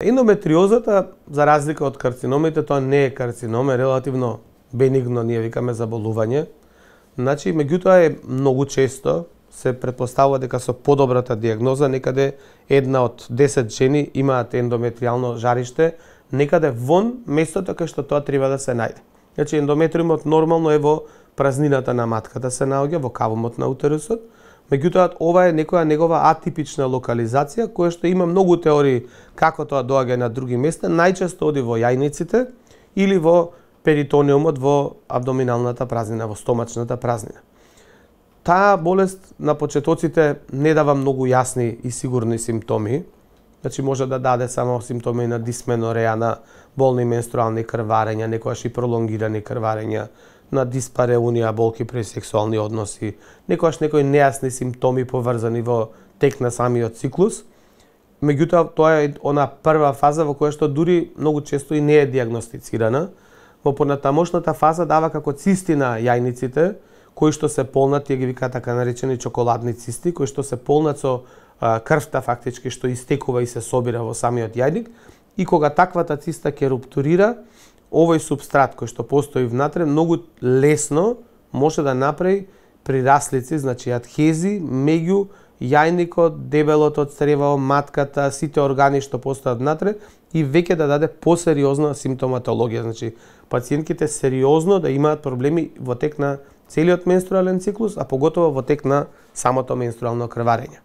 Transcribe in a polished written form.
Ендометриозата, за разлика од карциномите, тоа не е карцином, е релативно бенигно, ние викаме заболување. Значи, меѓутоа е многу често се претпоставува дека со подобрата дијагноза некаде 1 од 10 жени имаат ендометриално жариште некаде вон местото кај што тоа треба да се најде. Значи, ендометриумот нормално е во празнината на матката се наоѓа, во кавумот на утерусот. Меѓутоа, ова е некоја негова атипична локализација, која што има многу теории како тоа доаѓа на други места, најчесто оди во јајниците или во перитониумот, во абдоминалната празнина, во стомачната празнина. Таа болест на почетоците не дава многу јасни и сигурни симптоми. Значи, може да даде само симптоми на дисменореја, на болни менструални крварења, некојаш и пролонгирани крварења, на диспареунија, болки при сексуални односи, некојаш некои нејасни симптоми поврзани во тек на самиот циклус. Меѓутоа, тоа е она прва фаза во која што дури многу често и не е дијагностицирана. Во понатамошната фаза дава како цисти на јајниците, кои што се полнат, тие ги викаат така наречени чоколадни цисти, кои што се полнат со крвта фактички што истекува и се собира во самиот јајник, и кога таквата циста ќе руптурира, овој субстрат кој што постои внатре многу лесно може да направи прираслици, значи адхези меѓу јајникот, дебелото од црево, матката, сите органи што постојат внатре и веќе да даде посериозна симптоматологија, значи пациентките сериозно да имаат проблеми во тек на целиот менструален циклус, а поготово во тек на самото менструално крварење.